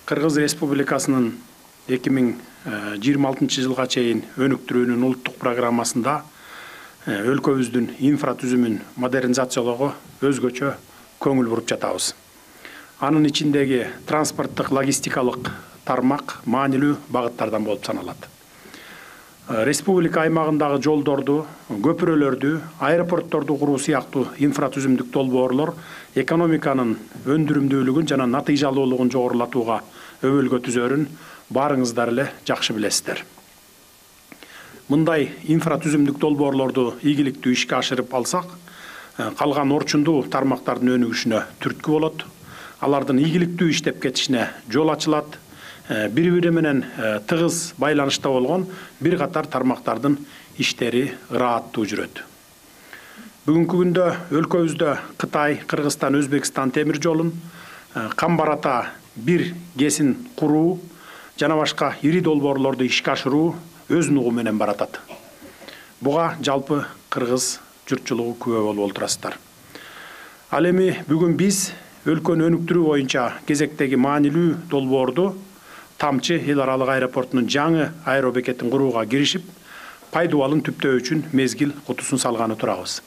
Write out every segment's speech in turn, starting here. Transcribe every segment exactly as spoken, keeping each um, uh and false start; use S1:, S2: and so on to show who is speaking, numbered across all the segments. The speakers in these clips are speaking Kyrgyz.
S1: Кыргыз Республикасынын эки миң жыйырма алтынчы жылга чейин өнүктүрүүнүн улуттук программасында өлкөбүздүн инфратүзүмүн модернизациялоого өзгөчө көңүл буруп жатабыз. Анын ичиндеги транспорттук логистикалык тармак маанилүү багыттардан болуп саналат. Республика аймагындагы жолдорду, көпүрөлөрдү, аэропортторду куруу сыяктуу инфратүзүмдүк долбоорлор экономиканын өндүрүмдүүлүгүн жана натыйжалуулугун жогорулатууга өбөлгө түзөрүн баарыңыздар эле жакшы билесиздер. Мындай инфратүзүмдүк долбоорлорду ийгиликтүү ишке ашырып алсак, калган орчундуу тармактардын өнүгүшүнө түрткү болот. Алардын ийгиликтүү иштеп кетишине жол ачылат. Бири-бири менен тыгыз байланышта болгон бир катар тармактардын иштери ырааттуу жүрөт. Бүгүнкү күндө өлкөбүздө Кытай, Кыргызстан, Өзбекстан темир жолун, Камбар-Ата бир кесин куруу жана башка ири долбоорлорду ишке ашыруу өз нугу менен баратат. Буга жалпы кыргыз журтчулугу күбө болуп отурасыздар. Ал эми бүгүн биз өлкөнү өнүктүрүү боюнча кезектеги маанилүү долбоорду Тамчы эл аралык аэропортунун жаңы аэробекетин курууга киришип, пайдубалын түптөө үчүн мезгил кутусун салганы турабыз.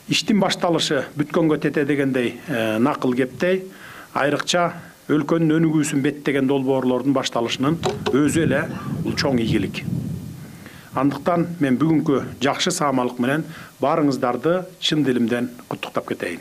S1: Иштин башталышы бүткөнгө тете дегендей накыл кептей, айрыкча өлкөнүн өнүгүүсүн беттеген долбоорлордун башталышынын өзү эле бул чоң ийгилик. Андыктан мен бүгүнкү жакшы саамалык менен баарыңыздарды чын дилимден куттуктап кетейин.